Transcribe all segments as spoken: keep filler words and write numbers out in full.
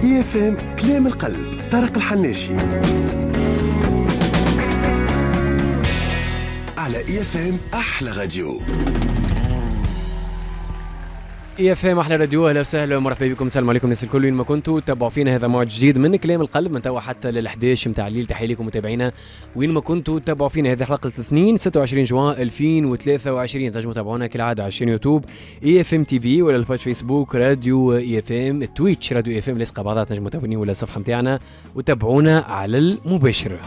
IFM كلام القلب، طارق الحناشي على IFM احلى راديو. IFM احلى راديو، اهلا وسهلا ومرحبا بكم. السلام عليكم الناس الكل وين ما كنتوا تابعوا فينا. هذا موعد جديد من كلام القلب من توا حتى لل إحدى عشر نتاع الليل. تحية لكم متابعينا وين ما كنتوا تابعوا فينا. هذه حلقة الاثنين ستة وعشرين جوان ألفين وثلاثة وعشرين. تنجموا تابعونا كالعادة على يوتيوب IFM TV ولا ال page فيسبوك راديو IFM، تويتش راديو IFM لاصقه بعضها، تنجموا تابعوني ولا الصفحة نتاعنا وتابعونا على المباشر.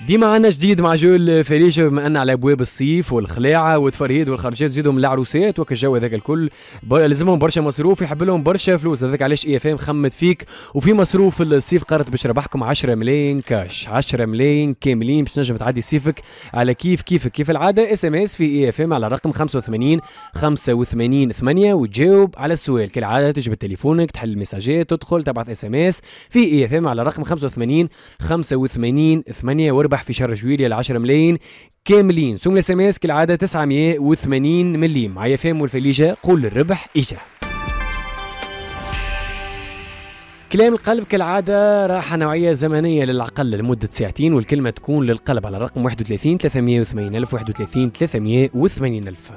ديما عنا جديد مع جو الفريجة، بما ان على ابواب الصيف والخلاعه والتفرهيد والخرجات زيدهم العروسات وك الجو هذاك الكل لازمهم برشا مصروف، يحب لهم برشا فلوس. هذاك علاش IFM خمت فيك وفي مصروف الصيف قررت باش ربحكم عشرة ملايين كاش، عشرة ملايين كاملين باش تنجم تعدي صيفك على كيف كيفك. كيف العادة SMS في IFM على رقم خمسة وثمانين خمسة وثمانين ثمانية وتجاوب على السؤال. كالعادة تجبد تليفونك، تحل المساجات، تدخل تبعث SMS في IFM على رقم خمسة وثمانين خمسة وثمانين ثمانية واربح في شهر جويلية العشرة ملايين كاملين. سوم ال SMS كالعادة تسعمية وثمانين مليم. مع IFM والفليجة قول الربح اجا. كلام القلب كالعادة راحة نوعية زمنية للعقل لمدة ساعتين، والكلمة تكون للقلب على الرقم واحد وثلاثين ثلاثمية وثمانين ألف، واحد وثلاثين ثلاثمية وثمانين ألف.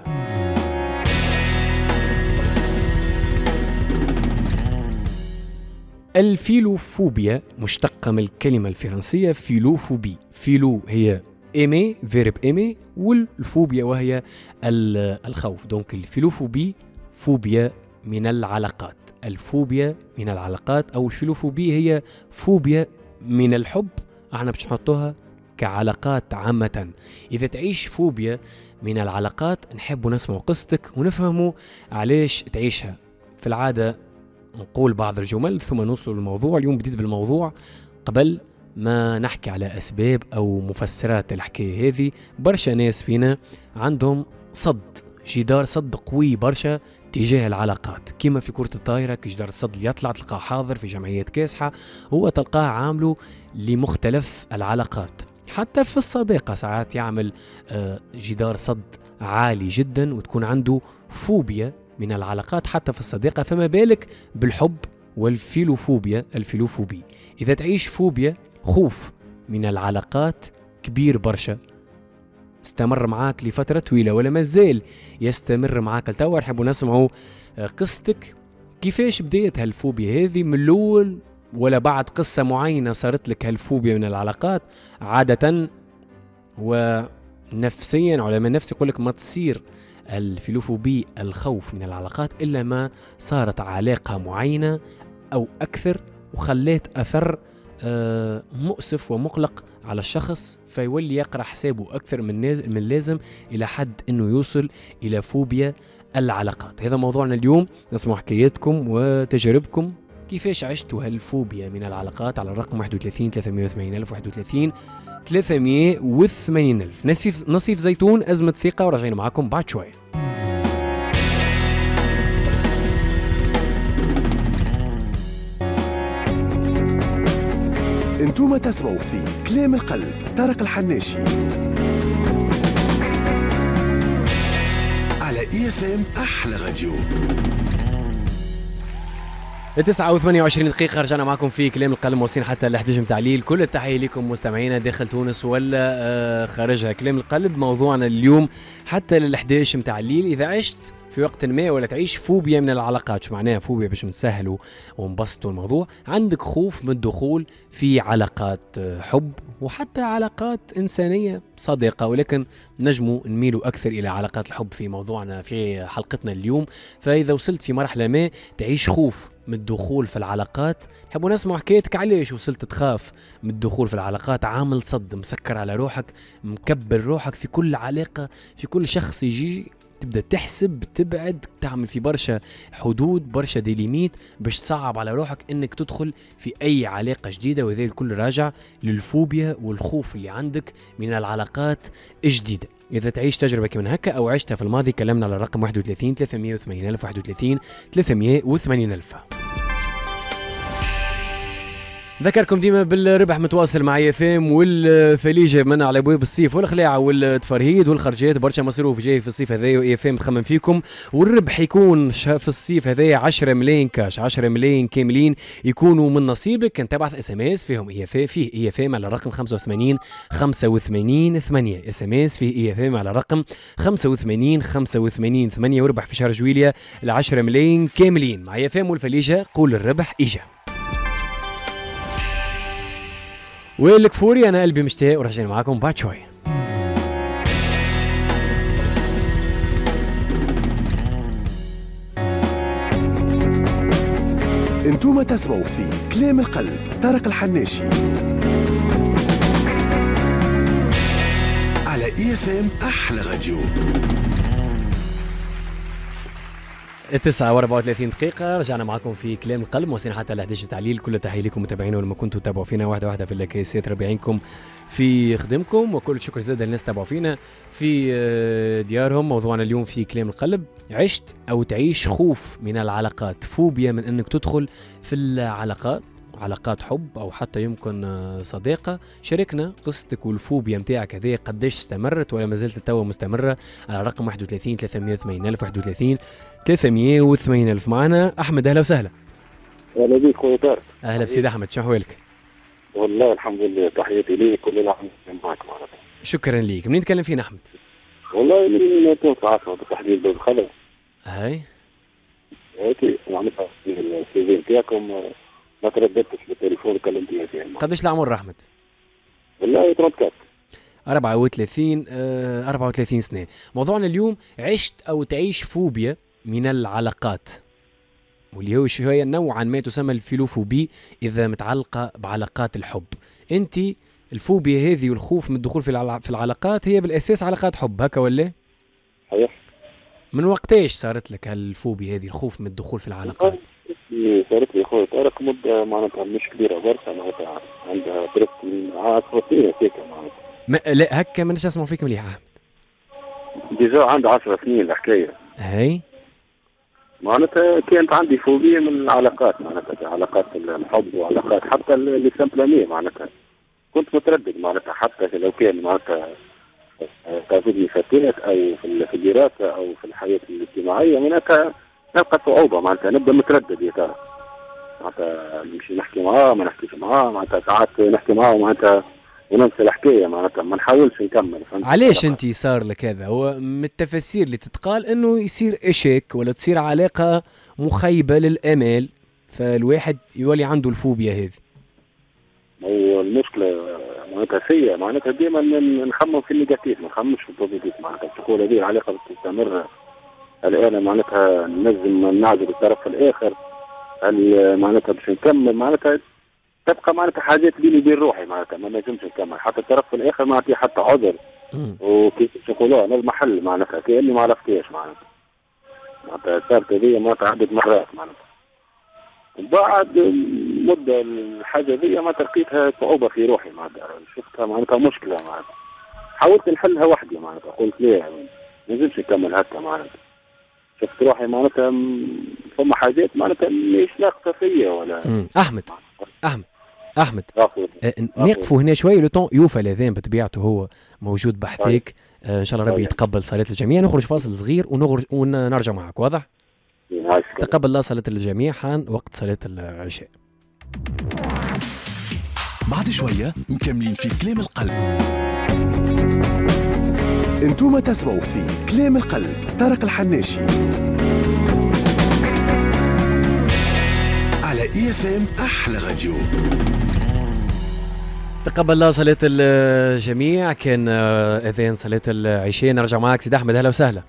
الفيلوفوبيا مشتقة من الكلمة الفرنسية philophobie. philo هي aimer، verbe aimer، والفوبيا وهي الخوف. donc ال philophobie فوبيا من العلاقات، الفوبيا من العلاقات أو ال philophobie هي فوبيا من الحب. احنا باش نحطوها كعلاقات عامة. إذا تعيش فوبيا من العلاقات نحب نسمع قصتك ونفهموا علاش تعيشها. في العادة نقول بعض الجمل ثم نوصل للموضوع. اليوم بديت بالموضوع قبل ما نحكي على أسباب أو مفسرات الحكاية هذه. برشا ناس فينا عندهم صد، جدار صد قوي برشا تجاه العلاقات، كما في كرة الطائرة جدار الصد اللي يطلع تلقاه حاضر في جمعيات كاسحة، هو تلقاه عامله لمختلف العلاقات. حتى في الصداقة ساعات يعمل جدار صد عالي جدا وتكون عنده فوبيا من العلاقات حتى في الصداقة، فما بالك بالحب والفيلوفوبيا. ال philophobie إذا تعيش فوبيا، خوف من العلاقات كبير برشا، استمر معاك لفترة طويلة ولا مازال يستمر معاك لتوا، نحبوا نسمعوا قصتك كيفاش بديت هالفوبيا هذه من الأول، ولا بعد قصة معينة صارت لك هالفوبيا من العلاقات. عادة ونفسيا علماء النفس يقول لك ما تصير ال philophobie الخوف من العلاقات إلا ما صارت علاقة معينة أو أكثر وخلت أثر مؤسف ومقلق على الشخص، فيولي يقرأ حسابه أكثر من من اللازم إلى حد أنه يوصل إلى فوبيا العلاقات. هذا موضوعنا اليوم، نسمع حكاياتكم وتجاربكم كيفاش عشتوا هالفوبيا من العلاقات على الرقم واحد وثلاثين ثلاثمية وثمانين ألف، واحد وثلاثين ثلاثمية وثمانين ألف. نصيف نصيف زيتون، أزمة ثقة، وراجعين معاكم بعد شوية. انتم تسمعوا في كلام القلب، طارق الحناشي على IFM احلى راديو. تسعة وثمانية وعشرين دقيقة رجعنا معكم في كلام القلب، واصلين حتى ل إحدى عشر متاع الليل. كل التحية لكم مستمعينا داخل تونس ولا خارجها. كلام القلب موضوعنا اليوم حتى لل إحدى عشر متاع الليل. إذا عشت في وقت ما ولا تعيش فوبيا من العلاقات، شو معناها فوبيا باش نسهلوا ونبسطوا الموضوع؟ عندك خوف من الدخول في علاقات حب وحتى علاقات إنسانية صديقة، ولكن نجموا نميلوا أكثر إلى علاقات الحب في موضوعنا في حلقتنا اليوم. فإذا وصلت في مرحلة ما تعيش خوف من الدخول في العلاقات، نحبوا نسمع حكايتك علاش وصلت تخاف من الدخول في العلاقات، عامل صد، مسكر على روحك، مكبر روحك في كل علاقة، في كل شخص يجي تبدا تحسب، تبعد، تعمل في برشا حدود، برشا des limites باش تصعب على روحك انك تدخل في اي علاقة جديدة. وهذا الكل راجع للفوبيا والخوف اللي عندك من العلاقات الجديدة. اذا تعيش تجربه كمان هكا او عشتها في الماضي كلمنا على الرقم واحد وثلاثين ثلاثمية وثمانين ألف، واحد وثلاثين ثلاثمية وثمانين ألف. ذكركم ديما بالربح متواصل مع IFM والفليجه من على ابواب الصيف والخلاعه والتفرهيد والخرجات، برشا مصروف جاي في الصيف هذايا و IFM تخمم فيكم، والربح يكون في الصيف هذايا عشرة ملايين كاش، عشرة ملايين كاملين يكونوا من نصيبك. كان تبعث SMS فيهم IF فيه IFM على الرقم خمسة وثمانين خمسة وثمانين ثمانية، SMS فيه IFM على الرقم خمسة وثمانين خمسة وثمانين ثمانية، وربح في شهر جويليا ال عشرة ملايين كاملين مع IFM والفليجه. قول الربح اجا. والكفوري انا قلبي مشتاق، ورجعنا معاكم بعد شوية. انتم تسمعوا في كلام القلب طارق الحناشي على IFM احلى راديو. تسعة وأربعة وثلاثين دقيقة رجعنا معكم في كلام القلب، وصلنا حتى ل إحدى عشر تعليل. كل تحية لكم متابعينا ولما كنتوا تتابعوا فينا واحدة واحدة في الكيسات، ربي يعينكم في خدمكم، وكل شكر زاد للناس تابعوا فينا في ديارهم. موضوعنا اليوم في كلام القلب، عشت أو تعيش خوف من العلاقات، فوبيا من أنك تدخل في العلاقات، علاقات حب أو حتى يمكن صداقة. شاركنا قصتك والفوبيا متاعك هذه قداش استمرت ولا ما زلت توا مستمرة على رقم واحد وثلاثين ثلاثمية وثمانين ألف، واحد وثلاثين ثلاثمية وثمانين ألف. معنا أحمد، أهلا وسهلا. أهلا بك خويا طارق. أهلا بسيد أحمد، شنو أحوالك؟ والله الحمد لله، تحياتي ليك كل العام معك معناتها. شكرا ليك. منين تكلم فينا أحمد؟ والله من تونس العاصمة بالتحديد باب الخضر. هاي okay، معناتها ال CV نتاعكم ما ترددتش بالتليفون كلمت فيها. قداش العمر أحمد؟ والله أربعة وثلاثين. أربعة وثلاثين آه، أربعة وثلاثين سنة. موضوعنا اليوم عشت أو تعيش فوبيا من العلاقات، واللي هو شوية نوعا ما تسمى ال philophobie إذا متعلقة بعلاقات الحب. أنت الفوبيا هذه والخوف من الدخول في في العلاقات هي بالأساس علاقات حب، هكا ولا؟ صحيح. من وقتاش صارت لك هالفوبيا هذه، الخوف من الدخول في العلاقات؟ صارت لي خويا طارق مدة معناتها مش كبيرة برشا، معناتها عندها presque عشر سنين هكاك معناتها. ما لا هكا مانيش نسمع فيك مليح أحمد. déjà عندها عشر سنين الحكاية. هاي معناتها كانت عندي فوبيا من العلاقات، معناتها علاقات الحب وعلاقات حتى les simples amis معناتها. كنت متردد معناتها حتى لو كان معناتها تعجبني فتاة أو في الدراسة أو في الحياة الاجتماعية معناتها نلقى صعوبة، معناتها نبدا متردد يا ترى معناتها نمشي نحكي معاه ما نحكيش معاه، معناتها ساعات نحكي معاه معناتها وننسى الحكاية، معناتها ما نحاولش نكمل. علاش انت صار لك هذا؟ هو من التفاسير اللي تتقال انه يصير échec ولا تصير علاقة مخيبه للامال، فالواحد يولي عنده الفوبيا هذه. هو المشكلة معناتها فيا معناتها ديما نخمم في ال négatif، ما نخممش في ال positif، معناتها تقول هذه العلاقة تستمر الآن معناتها نجم نعجب الطرف الآخر، هل معناتها باش نكمل معناتها تبقى معناتها حاجات بيني وبين روحي معناتها ما نجمش نكمل، حتى الطرف الآخر ما نعطيه حتى عذر وكيف نقولوها لازم حل معناتها كأني ما عرفتهاش معناتها معناتها صارت هذه معناتها عدة مرات معناتها. بعد مدة الحاجة ذي معناتها لقيتها صعوبة في روحي معناتها شفتها معناتها مشكلة معناتها حاولت نحلها وحدي معناتها قلت ليه ما نجمش نكمل هكا معناتها شفت روحي معناتها فما حاجات معناتها مش ناقصه فيا ولا. مم. احمد احمد احمد نقفوا هنا شوية le temps يوفى الاذان بطبيعته هو موجود بحثيك. آه ان شاء الله ربي يتقبل صلاة الجميع. نخرج فاصل صغير ونخرج ونرجع معك، واضح؟ تقبل الله صلاة الجميع، حان وقت صلاة العشاء. بعد شوية مكملين في كلام القلب. انتم تسمعوا في كلام القلب طارق الحناشي على IFM احلى راديو. تقبل الله صلاة الجميع، كان اذان صلاة العشاء. نرجع معك سيد احمد، اهلا وسهلا.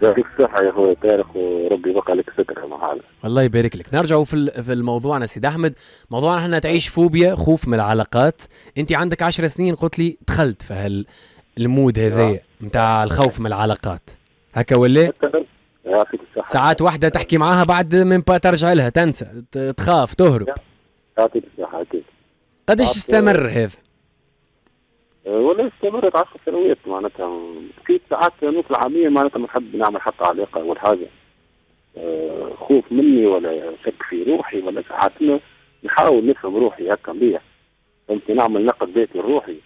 يعطيك الصحة يا خويا طارق وربي يبقى لك ستر محال. الله يبارك لك. نرجعوا في في الموضوعنا سيد احمد، موضوعنا احنا تعيش فوبيا خوف من العلاقات. انت عندك عشر سنين قلت لي دخلت في هال ال mode هذايا نتاع الخوف من العلاقات، هكا ولا؟ يعطيك الصحة. ساعات واحدة تحكي معاها بعد من با ترجع لها تنسى، تخاف، تهرب. يعطيك الصحة أكيد. قداش استمر هذا؟ والله استمرت عشر سنوات معناتها، بقيت ساعات نطلع عامية معناتها ما نحب نعمل حتى علاقة ولا حاجة. خوف مني ولا شك في روحي ولا ساعات نحاول نفهم روحي هكا مليح، فهمتني، نعمل نقد ذاتي لروحي،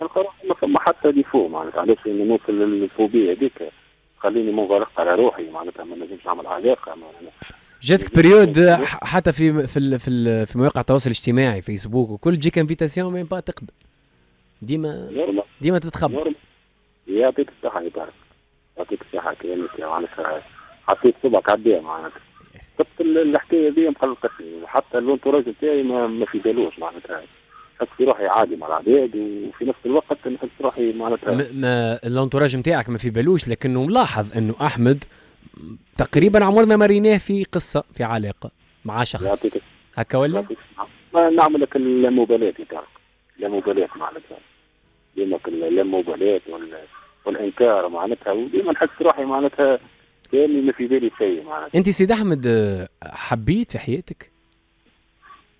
نلقى روحي ما فما حتى défaut معناتها. علاش نوصل للفوبيا هذيك؟ خليني منغلق على روحي معناتها، ما نجمش نعمل علاقة معناتها. جاتك période حتى في في في, في مواقع التواصل الاجتماعي فيسبوك وكل تجيك invitation même pas تقبل، ديما ديما تتخبى. يعطيك الصحة يا طارق، يعطيك الصحة، كلامك معناتها حطيت صبعك على الداء معناتها. شفت الحكاية دي مقلقتني، وحتى ال entourage تاعي ما, ما في بالوش معناتها. نحس في روحي عادي مع العباد، وفي نفس الوقت نحس روحي معناتها ما ال entourage نتاعك ما في بالوش، لكنه ملاحظ انه احمد تقريبا عمرنا ما ريناه في قصة في علاقة مع شخص هكا ولا؟ ما نعمل لك اللامبالاة يا طارق، اللامبالاة معناتها، ديما اللامبالاة والانكار معناتها، وديما نحس روحي معناتها كاني ما في بالي شيء معناتها. انت سيد احمد حبيت في حياتك؟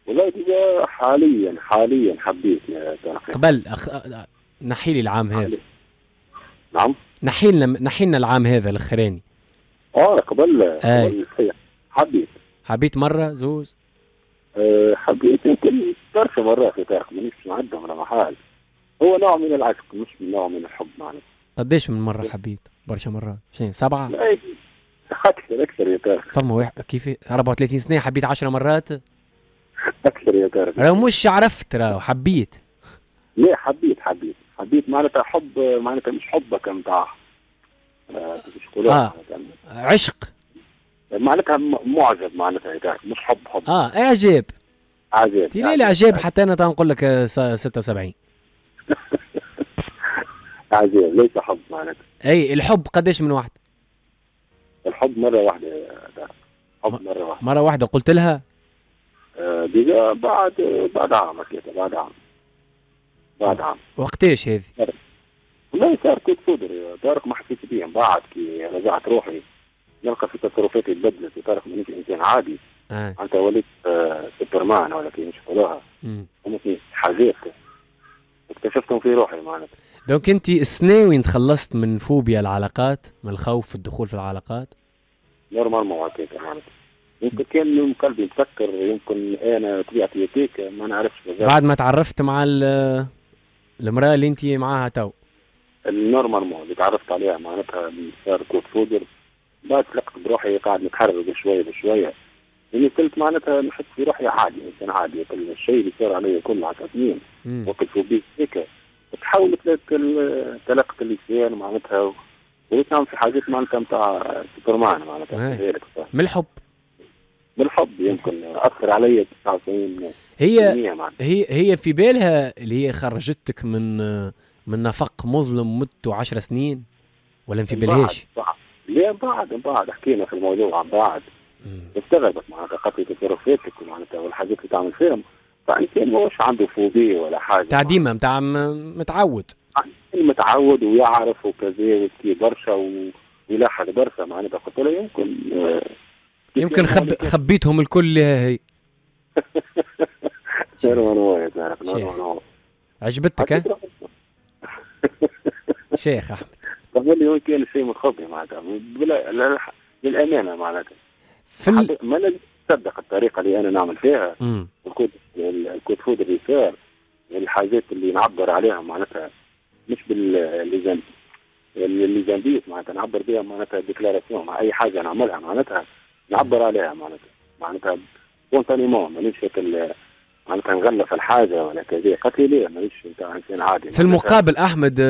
والله déjà حاليا حاليا حبيت يا طارق. قبل أخ... نحي لي العام هذا. نعم؟ نحي لنا نحي لنا العام هذا الاخراني. اه قبل قبل حبيت. حبيت مرة زوز؟ أه حبيت يمكن برشا مرات يا طارق، مانيش نعدهم ولا محال. هو نوع من العشق مش نوع من الحب معناتها. قداش من مرة حبيت؟ برشا مرات، شنو سبعة؟ لا أكثر أكثر يا طارق. فما واحد كيف أربعة وثلاثين سنة حبيت عشر مرات؟ أكثر يا طارق. راهو مش عرفت، راهو حبيت. لا حبيت حبيت حبيت معناتها حب، معناتها مش حبك نتاع آه. عشق معناتها، معجب معناتها يا طارق، مش حب حب. اه اعجاب. اعجاب. تي الاعجاب حتى انا تنقول لك ستة وسبعين. اعجاب ليس حب معناتها. اي الحب قداش من واحد؟ الحب مرة واحدة يا طارق، حب مرة واحدة. مرة واحدة قلت لها؟ آه déjà بعد بعد عام هكاك، بعد عام بعد عام. وقتاش هذه؟ والله صار coup de foudre يا طارق، ما حسيت بيه. من بعد كي رجعت روحي نلقى في تصرفاتي تبدلت يا طارق، مانيش انسان عادي. آه. انت وليت آه سوبرمان ولا كيفاش يقولوها، فهمتني، حاجات اكتشفتهم في روحي معناتها. donc انت السنة وين تخلصت من فوبيا العلاقات، من الخوف في الدخول في العلاقات؟ normalement هكاك معناتها. يمكن كان قلبي مسكر، يمكن انا طبيعتي هكاك، ما نعرفش بالضبط. بعد ما تعرفت مع المراة اللي انت معاها تو؟ normalement اللي تعرفت عليها معناتها صار coup de foudre، بعد تلقت بروحي قاعد نتحرر بشوية بشوية، يعني قلت معناتها نحس في روحي عادي، انسان عادي، كل الشيء اللي صار علي كله عشر سنين وقت فوبيا هيك تحولت لك تلقت اللسان معناتها، وليت نعمل في حاجات معناتها نتاع سوبرمان معناتها. من الحب؟ من الحب يمكن اثر علي تسعة وتسعين. هي هي هي في بالها اللي هي خرجتك من من نفق مظلم مدته عشر سنين ولا في بالهاش؟ لا بعد بعد حكينا في الموضوع عن بعد، استغربت معناتها قالت لي تصرفاتك ومعناتها والحاجات اللي تعمل فيهم، فانسان ماهوش عنده فوبيا ولا حاجة تاع ديما نتاع متعود، متعود ويعرف وكذا ويحكي برشا ويلاحظ برشا معناتها. قلت له يمكن يمكن خب خبيتهم الكل هي. عجبتك ها؟ شيخ احمد قبل لي هو كان شيء مخبي معناتها بلا للامانة معناتها. في ال... ما لازم تصدق الطريقة اللي انا نعمل فيها، ال coup ال coup de foudre اللي صار، الحاجات اللي نعبر عليها معناتها مش بال les indices معناتها نعبر بها معناتها déclaration مع اي حاجة نعملها معناتها نعبر عليها معناتها معناتها spontanément، مانيش معناتها نغلف الحاجة ولا كذا. قالت لي ليه مانيش نتاع انسان عادي. في المقابل احمد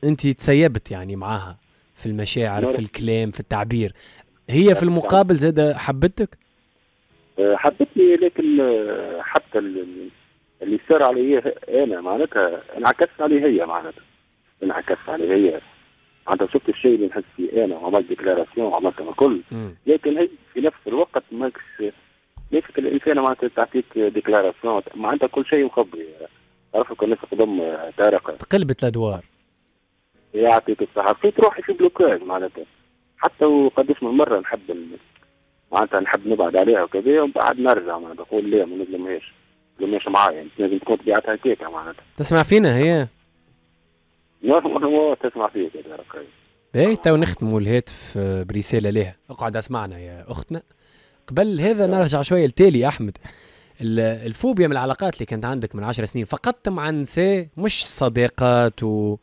انت تسيبت يعني معاها في المشاعر، في الكلام، في التعبير، هي في المقابل زاد حبتك؟ حبتني، لكن حتى اللي صار علي انا معناتها انعكس علي هي معناتها انعكس علي هي معناتها. شفت الشيء اللي نحس فيه انا وعملت déclaration وعملت الكل، لكن هي في نفس الوقت ماكش ليش الانسان معناتها تعطيك déclaration معناتها كل شيء مخبي. عرفت الناس قدام طارق تقلبت الادوار. يعطيك الصحة، لقيت روحي في blocage معناتها، حتى وقداش من مرة نحب معناتها نحب نبعد عليها وكذا، ومن بعد نرجع معناتها نقول لا ما نظلمهاش، ما نظلمهاش معايا، لازم تكون طبيعتها هكاكا معناتها. تسمع فينا هي؟ normalement تسمع فيك يا طارق. باهي تو نختموا الهاتف برسالة لها، اقعد اسمعنا يا أختنا. قبل هذا نرجع شوية لتالي أحمد. الفوبيا من العلاقات اللي كانت عندك من عشر سنين فقدت مع النساء، مش صديقات و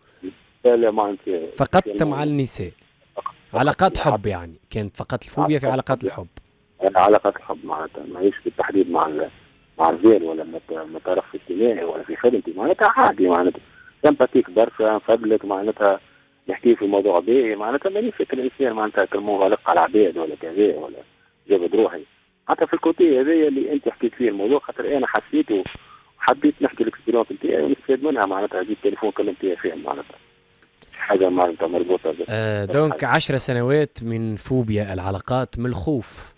لا لا مع النساء، فقدت مع النساء علاقات حب يعني، كانت فقط الفوبيا في علاقات الحب. علاقات الحب معناتها ماهيش بالتحديد مع مع الرجال ولا مع طرف اجتماعي ولا في خدمتي، معناتها عادي معناتها sympathique برشا نفضلك معناتها نحكي في موضوع باهي معناتها مانيش فكر الانسان معناتها كالمنغلق على العباد ولا كذا ولا جابد روحي حتى في ال côté هذايا اللي انت حكيت فيه الموضوع، خاطر انا حسيته وحبيت نحكي ال expérience نتاعي ونستفاد منها معناتها. جيت تليفون كلمت فيه معناتها حاجة معناتها مربوطة. آه donc عشر سنوات من فوبيا العلاقات، من الخوف،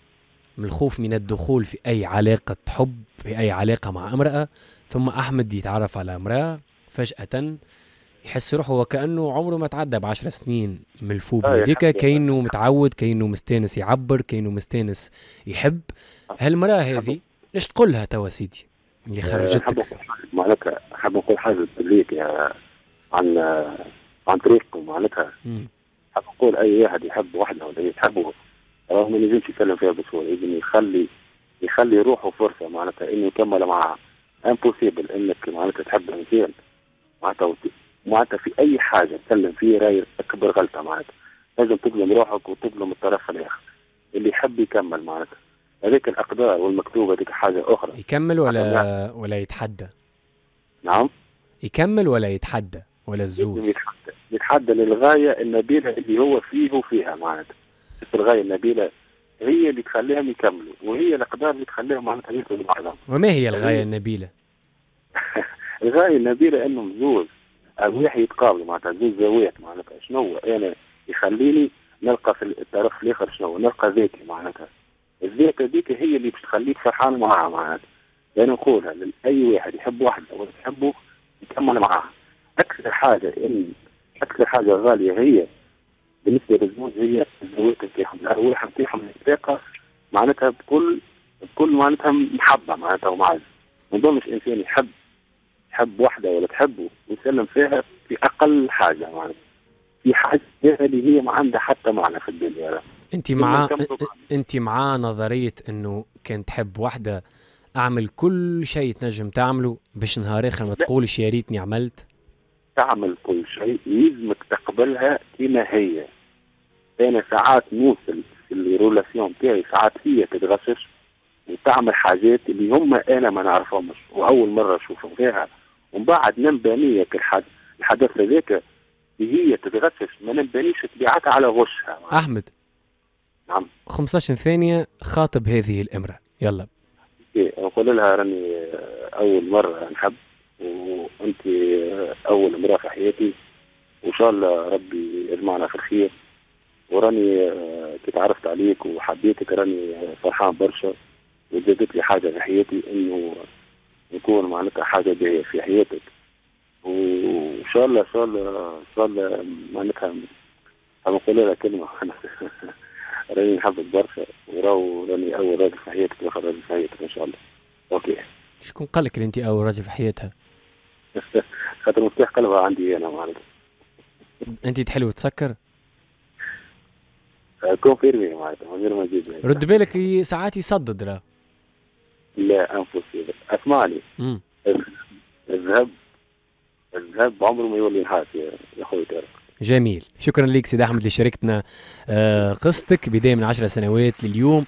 من الخوف من الدخول في اي علاقة حب، في اي علاقة مع امراة. ثم احمد يتعرف على امراة فجاة يحس روحه وكأنه عمره ما تعدى بعشر سنين من الفوبيا هذيك، كأنه متعود، كأنه مستانس يعبر، كأنه مستانس يحب. هالمرأة هذه ايش تقول لها توا سيدي اللي خرجتك؟ معناتها حاب نقول حاجة ليك عن عن طريقكم معناتها. حاب نقول أي واحد يحب وحده ولا يحبه راهو ما ينجمش يسلم فيها بسهولة، لازم يخلي يخلي روحه فرصة معناتها إنه يكمل معها. impossible إنك معناتها تحب إنسان معناتها معناتها في اي حاجة تسلم فيه راي اكبر غلطه معناتها. لازم تظلم روحك وتظلم الطرف الاخر اللي يحب يكمل معناتها. هذيك الاقدار والمكتوب هذيك حاجة اخرى. يكمل ولا ولا يتحدى؟ نعم، يكمل ولا يتحدى ولا الزوز؟ يتحدى، يتحدى للغاية النبيلة اللي هو فيه وفيها معناتها. الغاية النبيلة هي اللي تخليهم يكملوا، وهي الاقدار اللي تخليهم معناتها يكملوا بعضهم. وما هي الغاية النبيلة؟ الغاية النبيلة انهم زوز أرواح يتقابلوا معناتها، زوز زوايا معناتها. شنو أنا يخليني نلقى في الطرف الآخر، شنو نلقى ذاتي معناتها. الذات هذيك هي اللي باش تخليك فرحان معاها معناتها. أنا نقولها لأي واحد يحب واحد أو تحبه يكمل معاها. أكثر حاجة إن أكثر حاجة غالية هي بالنسبة للزوج هي الزواج نتاعهم، الأرواح نتاعهم الثقة معناتها بكل بكل معناتها محبة معناتها ومعزة. ما نظنش إنسان يحب تحب واحدة ولا تحبه ويسلم فيها في أقل حاجة معناتها، في حاجة اللي هي ما عندها حتى معنى في الدنيا. أنت مع أنت مع نظرية إنه كان تحب واحدة أعمل كل شيء تنجم تعمله باش نهار آخر ما تقولش يا ريتني عملت؟ تعمل كل شيء، يلزمك تقبلها كما هي. أنا ساعات نوصل في ال relation تاعي ساعات هي تتغشش وتعمل حاجات اللي هم أنا ما نعرفهمش وأول مرة أشوفهم فيها، ومن بعد نبانية الحدث هذاك هي تتغشش، ما نبانيش طبيعتها على غشها. أحمد، نعم، خمسة عشر ثانية، خاطب هذه الامرأة يلا. إيه، نقول لها راني أول مرة نحب وأنت أول امرأة في حياتي، وإن شاء الله ربي يجمعنا في الخير، وراني كي تعرفت عليك وحبيتك راني فرحان برشا، وزادت لي حاجة في حياتي إنه نكون معناتها حاجة باهية في حياتك، وإن شاء الله إن شاء الله إن شاء الله معناتها نقول لها كلمة راني نحبك برشا، وراو راني أول راجل في حياتك وآخر راجل في حياتك إن شاء الله. OK. شكون قال لك أنت أول راجل في حياتها؟ خاطر مفتاح قلبها عندي أنا معناتها. أنت تحل وتسكر؟ confirmé معناتها من غير ما نزيد. رد بالك ساعات يصدد راه. لا impossible، اسمعني. الذهب الذهب عمره ما يولي نحاس يا خويا طارق. جميل، شكرا لك سيد احمد اللي شاركتنا قصتك بداية من عشر سنوات لليوم،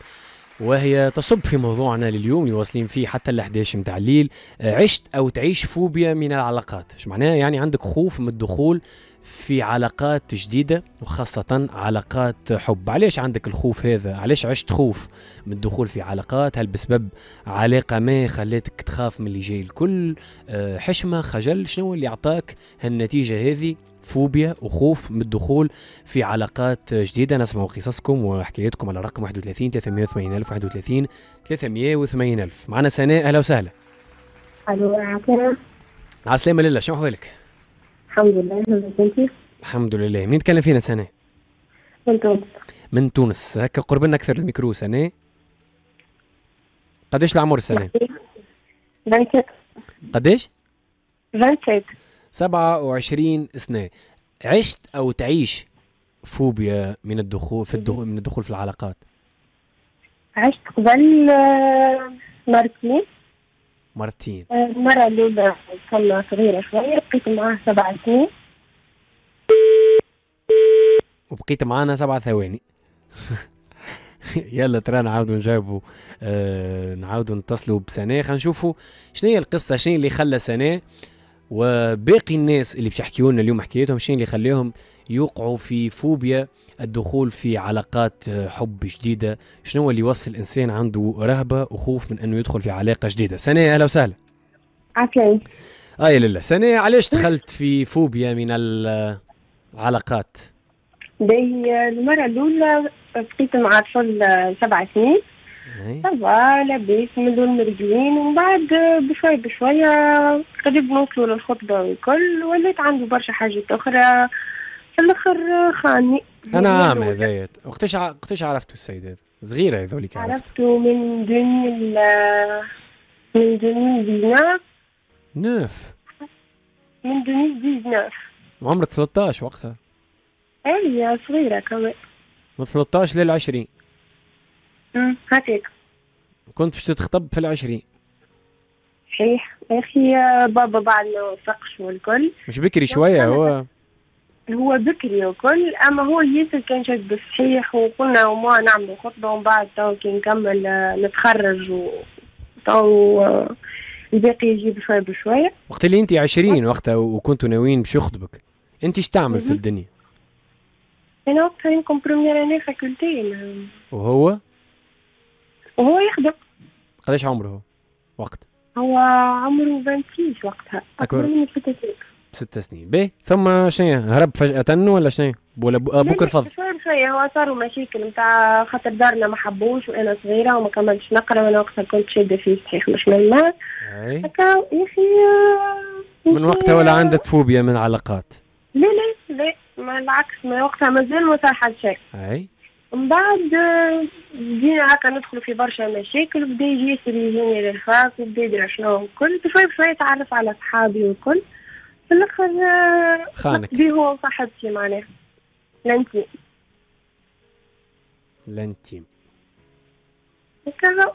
وهي تصب في موضوعنا لليوم اللي واصلين فيه حتى ال إحداش متاع الليل. عشت او تعيش فوبيا من العلاقات، ايش معناها؟ يعني عندك خوف من الدخول في علاقات جديدة وخاصة علاقات حب. علاش عندك الخوف هذا؟ علاش عشت خوف من الدخول في علاقات؟ هل بسبب علاقة ما خلاتك تخاف من اللي جاي الكل؟ حشمة، خجل، شنو اللي اعطاك هالنتيجة هذه؟ فوبيا وخوف من الدخول في علاقات جديدة. نسمع قصصكم وحكايتكم على رقم واحد وثلاثين ثلاثمية وثمانين ألف، واحد وثلاثين ثلاثمية وثمانين ألف. معنا سناء، أهلا وسهلا. ألو، عسلامة. عسلامة لله، شنو أحوالك؟ الحمد لله، انت؟ الحمد لله. منين تكلم فينا سناء؟ من تونس. من تونس، هكا قرب لنا أكثر الميكرو سناء. قداش العمر سناء؟ سبعة وعشرين. قداش؟ سبعة وعشرين. سبعة وعشرين سنة. عشت أو تعيش فوبيا من الدخول في الدخول من الدخول في العلاقات؟ عشت قبل مرتين. مرتين. المرة الأولى كنا صغيرة شوية، بقيت معاه سبع سنين. وبقيت معانا سبع ثواني. يلا ترى نعاودوا نجاوبوا، آه نعاودوا نتصلوا بسناء، خلينا نشوفوا شنو هي القصة، شنو اللي خلى سناء وباقي الناس اللي باش يحكيوا لنا اليوم حكايتهم، شنو اللي خليهم يوقعوا في فوبيا الدخول في علاقات حب جديدة، شنو اللي يوصل الإنسان عنده رهبة وخوف من أنه يدخل في علاقة جديدة. سناء أهلا وسهلا. عسلامة. آه يا لله. سناء، علاش دخلت في فوبيا من العلاقات؟ باهي، المرة الأولى بقيت مع طفل سبع سنين، ça va لاباس من دون مرجلين، ومن بعد بشوي بشوية قريب نوصلوا للخطبة والكل، وليت عنده برشا حاجات أخرى، في الآخر خاني. أنا عام هذايا، وقتاش وقتاش عرفتوا السيد هذا؟ صغيرة هذوليك عرفتوا؟ عرفتوا من ألفين من ألفين وتسعة عشر. neuf من ألفين وتسعة عشر. عمرك ثلاثة عشر وقتها؟ اي صغيرة كمان. من ثلاثة عشر للعشرين. امم هكاك. كنت باش تتخطب في العشرين. صحيح يا اخي، بابا بعد ما وافقش والكل. مش بكري شوية هو؟ هو بكري وكل، اما هو ياسر كان شاد بالصحيح، وقلنا وما نعملوا خطبة ومن بعد تو كي نكمل نتخرج وتو الباقي يجي بشوية بشوية. وقت اللي انت عشرين وقتها وكنتوا ناويين باش يخطبك، انت ايش تعمل في الدنيا؟ انا وقتها يمكن première année faculté. وهو؟ وهو يخدم. قداش عمره هو وقت؟ هو عمره ستة وعشرين وقتها، أكبر مني بست سنين. ست سنين، باهي. ثم شنو هرب فجأة ولا شنو؟ ولا بوك رفض؟ شوية شوية هو صاروا مشاكل نتاع خاطر دارنا ما حبوش وأنا صغيرة وما كملتش نقرا، وأنا وقتها كنت شادة فيه صحيح مش منا. هكا يا أخي. من وقتها ولا عندك فوبيا من علاقات؟ لا لا لا، ما العكس، ما وقتها مازال ما صار حد شيء. أي. من بعد بدينا هكا ندخلوا في برشا مشاكل، وبدا يجي ياسر يجيني لل fac، وبدا يدري شنو الكل، بشوي بشوي تعرف على صحابي والكل، في الاخر خانك بيه هو وصاحبتي معناها l'intime. l'intime هكا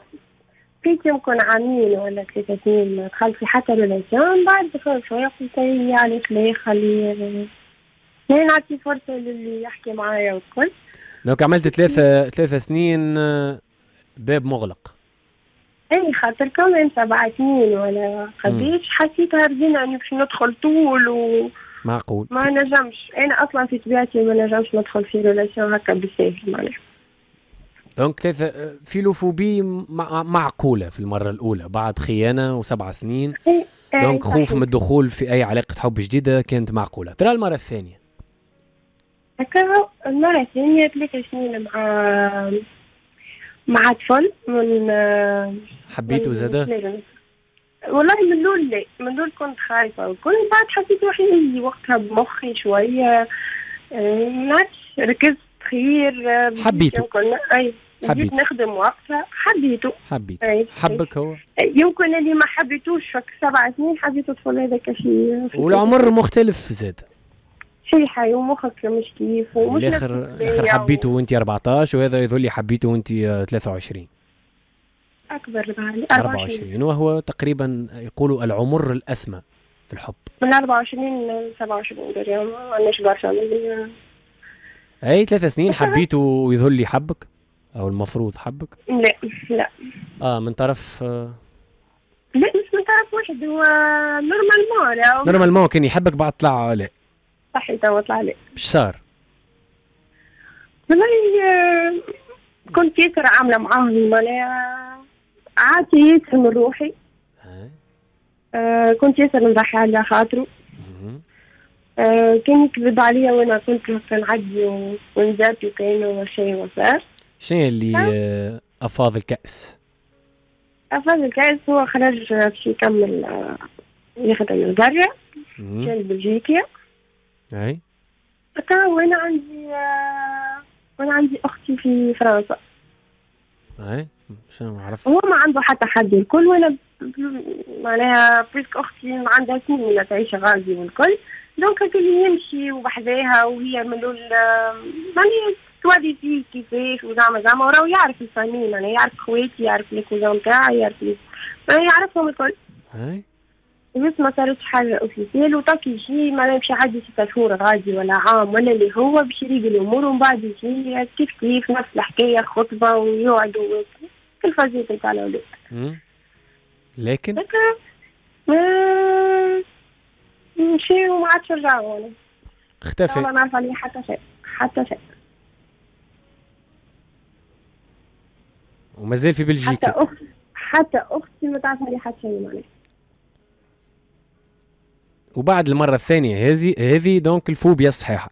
بقيت يمكن عامين ولا ثلاثة سنين ما دخلت في حتى relation. من بعد بشوي بشوي قلت لي علاش لا، خلي نعطي فرصة للي يحكي معايا والكل. donc عملت ثلاثة ثلاثة سنين باب مغلق. اي خاطر كمان سبع سنين ولا قديش حسيتها رزينة اني باش ندخل طول و معقول ما نجمش، انا اصلا في طبيعتي ما نجمش ندخل في relation هكا بالساهل معناها. donc ثلاثة philophobie معقولة في المرة الأولى بعد خيانة وسبع سنين. donc خوف من الدخول في أي علاقة حب جديدة كانت معقولة. ترى المرة الثانية هكا المرة الثانية ثلاثة سنين مع مع طفل من حبيته زادا؟ والله من الأول لا، من الأول كنت خايفة وكل، بعد حسيت روحي وقتها بمخي شوية، نعرفش ركزت خير. حبيته. أي حبيت نخدم وقتها، حبيته. حبيته. أي. حبك هو؟ يمكن اللي ما حبيتوش فك سبع سنين حبيته الطفل هذاك في والعمر مختلف زاد. صحيحة ومخك مش كيف ومش الاخر الاخر حبيته وانت أربعطاش، وهذا يظل لي حبيته وانت ثلاثة وعشرين. اكبر بعد أربعة وعشرين، وهو تقريبا يقولوا العمر الاسمى في الحب. من أربعة وعشرين ل سبعة وعشرين دريم، ما عندناش برشا. اي ثلاث سنين حبيته ويظل لي حبك او المفروض حبك؟ لا لا. اه من طرف آه لا مش من طرف واحد، هو normalement normalement كان يحبك بعد طلع لا. صحيح توا طلع لي. اش صار؟ والله كنت ياسر عامله معاهم معناها عادي ياسر من روحي. آه كنت ياسر نضحي على خاطره. آه كان يكذب عليا وانا كنت نعدي ونزات وكأنه شيء ما صار. شنو اللي آه افاض الكأس؟ افاض الكأس هو خرج باش يكمل يخدم البرا، كان بلجيكا. اي هكا وانا عندي آه وانا عندي اختي في فرنسا. اي شنو عرفت؟ هو ما عنده حتى حد الكل، وانا معناها puisque اختي ما عندها سنين تعيش غادي والكل، donc هكا اللي يمشي وبحذاها وهي من الاول معناها توري فيه كيفاش وزعما زعما، وراهو يعرف ال famille معناها يعرف خواتي يعرف les cousins تاعي يعرف les يعرفهم الكل. هاي بس ما صارتش حاجة officielle، وتاك يجي معناها باش يعدي ستة شهور غادي ولا عام ولا اللي هو باش يريق الامور، ومن بعد يجي كيف كيف نفس الحكاية، خطبه ويقعدوا كل فازيت نتاع الاولاد. لكن مشي وما عادش رجعوا، اختفى. ما نعرف عليه حتى شيء، حتى شيء. ومازال في بلجيكا. حتى اختي، حتى اختي ما تعرف عليه حتى شيء معناها. وبعد المرة الثانية هذه هذه donc الفوبيا الصحيحة.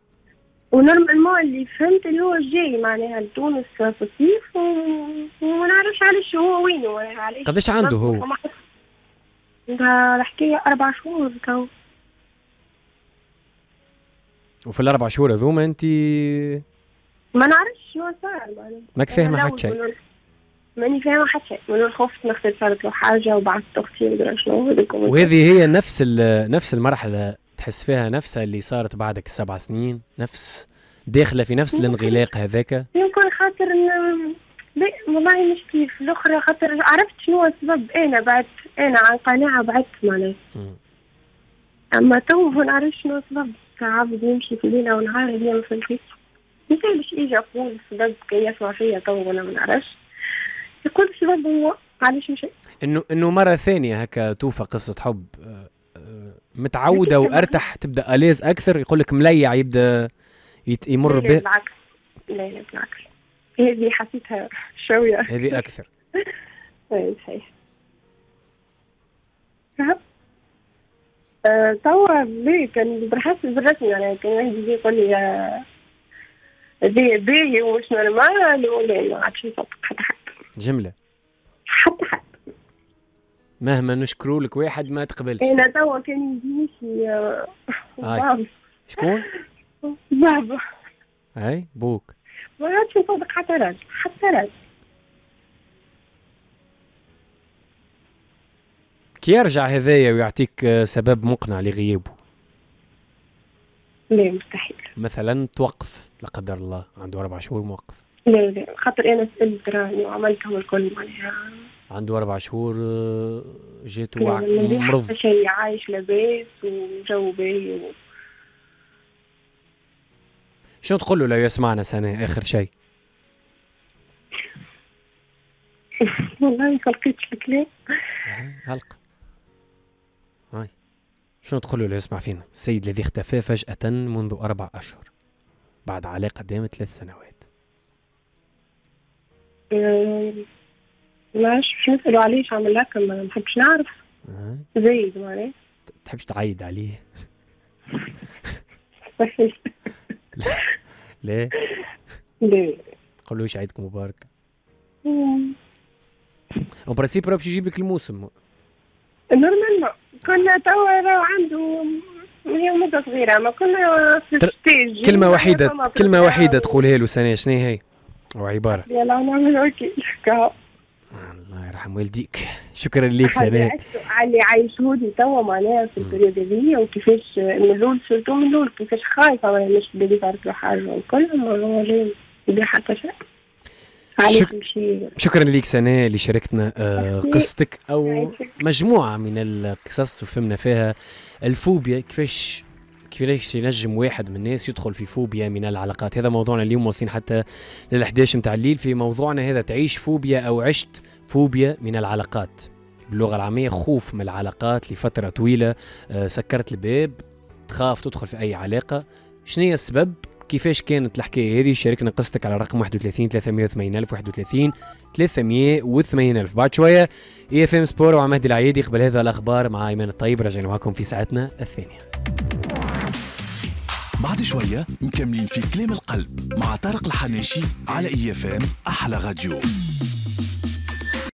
و normalement اللي فهمت اللي هو جاي معناها لتونس في الصيف، وما نعرفش علاش هو وينه، علاش. قداش عنده هو؟ الحكاية أربع شهور تو. وفي الأربع شهور هذوما أنت ما نعرفش شنو صار معناها. ماك فاهمة حتى شيء. ماني فاهمة حتى شيء، من خفت نخسر صارت له حاجة وبعثت أختي ودرا شنو. وهذه هي نفس نفس المرحلة تحس فيها نفسها اللي صارت بعدك السبع سنين، نفس داخلة في نفس الانغلاق هذاك. يمكن خاطر لا والله مش كيف الأخرى، خاطر عرفت شنو السبب، أنا بعدت، أنا عن قناعة بعدت معناها. أما تو ما نعرفش شنو السبب، عبد يمشي في ليلة ونهار هي ما فهمتش. مثال باش يجي يقول السبب كي يسمع فيا تو ولا ما نعرفش، يقول السبب هو علاش مشي. انه انه مرة ثانية هكا توفى قصة حب متعوده وارتح، تبدا à l'aise اكثر، يقول لك مليع يبدا يمر به. بالعكس، لا لا بالعكس، هذه حسيتها شوية، هذه اكثر. اي صحيح. توا ليه كان بالحس بالرسمي يعني كان واحد يجي يقول لي هذه باهي ومش normal، ولا ما عادش نصدق حتى حد. جملة حتى حد مهما نشكروا لك واحد ما تقبلش. انا توا كان يجيني شي بابا. شكون؟ بابا. اي بوك. ما عادش نصدق حتى راجل، حتى راجل. كي يرجع هذايا ويعطيك سبب مقنع لغيابه؟ لا مستحيل. مثلا توقف لا قدر الله، عنده أربع شهور موقف. لا لا خاطر أنا سألت راني وعملتهم الكل معناها. عنده أربع شهور جاتو مرض. شيء عايش لاباس وجو باهي و... شنو تقول له لو يسمعنا سنة آخر شيء؟ والله ما لقيتش الكلام. هلق هاي شنو تقول له لو يسمع فينا؟ السيد الذي اختفى فجأة منذ أربع أشهر بعد علاقة دامت ثلاث سنوات. ما عرفتش باش نسألو علاش عمل هكا، ما نحبش نعرف. زايد معناها. تحبش تعيد عليه؟ ليه؟ ليه؟ قولوش عيدكم مبارك. en principe راه باش يجيب لك الموسم. normalement كنا توا راه عنده هي مدة صغيرة، ما كنا في stage. كلمة وحيدة، كلمة وحيدة تقولها له سنة شنو هي؟ أو عبارة. يلا نعمل وكيل. الله يرحم والديك، شكرا لك سناء. على اللي عايشهولي توا معناها في ال période هذيا، وكيفاش من الاول surtout من الاول كيفاش خايفة معناها مش بلي صارت له حاجة والكل، ما لا حتى شيء. شك... شكرا لك سناء اللي شاركتنا قصتك او مجموعة من القصص وفهمنا فيها الفوبيا، كيفاش كيفاش ينجم واحد من الناس يدخل في فوبيا من العلاقات. هذا موضوعنا اليوم، واصلين حتى لل إحدى عشر متاع الليل في موضوعنا هذا، تعيش فوبيا او عشت فوبيا من العلاقات، باللغة العامية خوف من العلاقات لفترة طويلة، سكرت الباب، تخاف تدخل في اي علاقة، شنو هي السبب؟ كيفاش كانت الحكاية هذه؟ شاركنا قصتك على الرقم واحد وثلاثين ثلاثمية وثمانين ألف، واحد وثلاثين ثلاثمية وثمانين ألف. بعد شوية IFM Sport ومع مهدي العيادي، قبل هذا الاخبار مع ايمان الطيب، راجعين معكم في ساعتنا الثانية. بعد شوية مكملين في كلام القلب مع طارق الحناشي على IFM احلى راديو.